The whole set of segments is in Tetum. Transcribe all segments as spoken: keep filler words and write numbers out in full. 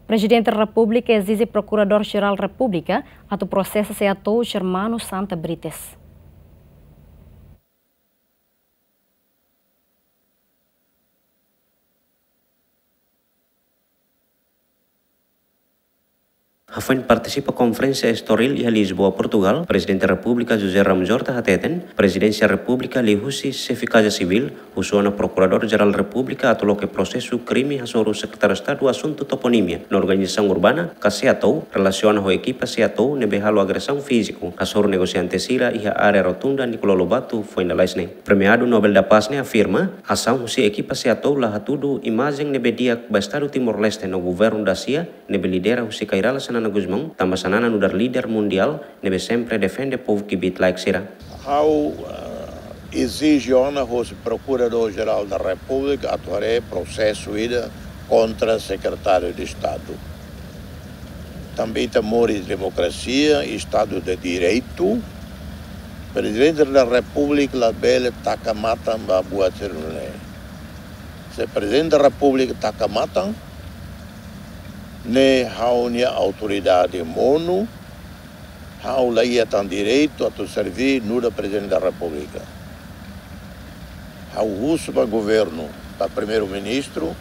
Prezidente Repúblika ezije Prokuradór-Jerál Repúblika atu prosesa Seatou Germano Santa Brites. Hafoin partisipa konferénsia estoril iha Lisboa, Portugal, Prezidente Repúblika José Ramos Horta hateten, Prezidénsia Repúblika liuhusi Xefe Kaza Sivíl husu ona Prokuradór-Jerál Repúblika atu loke prosesu krime hasoru Sekretáriu Estadu Asuntu Toponímia no Organizasaun Urbana, ka Seatou, relasiona ho ekipa Seatou ne'ebé halo agresaun fíziku hasoru negosiante sira iha área Rotunda Nicolau Lobato foin lalais ne'e. Premiadu Nobel da Paz ne'e afirma, asaun husi ekipa Seatou la hatudu imajen ne'ebé di'ak ba Estadu Timor-Leste no governu dasia ne'ebé lidera husi Kay Rala Xanana Gusmão, tanba Xanana nu'udar líder mundiál ne'ebé sempre defende povu kbiit-laek sira. Ha'u, eh, ezije ona hosi Prokuradór-Jerál da Repúblika atu haree prosesu ida kontra Sekretáriu de Estadu. Tanba ita moris demokrasia, Estadu de Direitu, Prezidente da Repúblika labele taka matan ba buat sira-ne'e. Se Prezidente da Repúblika taka matan, ne'e ha'u-nia autoridade monu, ha'u la iha tan direitu atu serví nu'udar Prezidente da Repúblika. Ha'u husu ba governu, ba Primeiru-Ministru,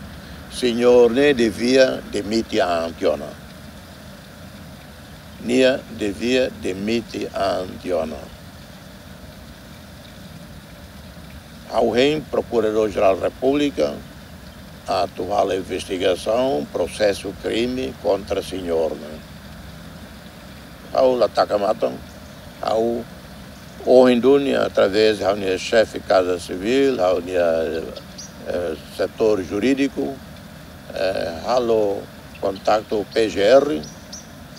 señór ne'e devia demite an tiha ona. Nia devia demite an tiha ona. Ha'u hein Prokuradór-Jerál Repúblika atu halo investigasaun, prosesu krime kontra señór ne'e. Ha'u la taka matan, ha'u ohin duni através ha'u-nia Xefe Kaza Sivíl, ha'u-nia, eh, setór jurídiku, eh, halo kontaktu P G R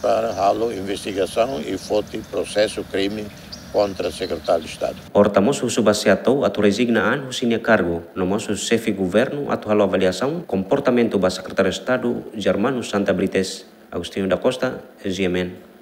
para halo investigasaun i foti prosesu krime kontra Sekretáriu de Estadu. Horta mós husu ba Seatou atu rezigna an husi nia kargu, no mós husu Xefe Governu atu halo avaliasaun komportamentu ba Sekretáriu Estadu Germano Santa Brites. Agostinho da Costa, G M N.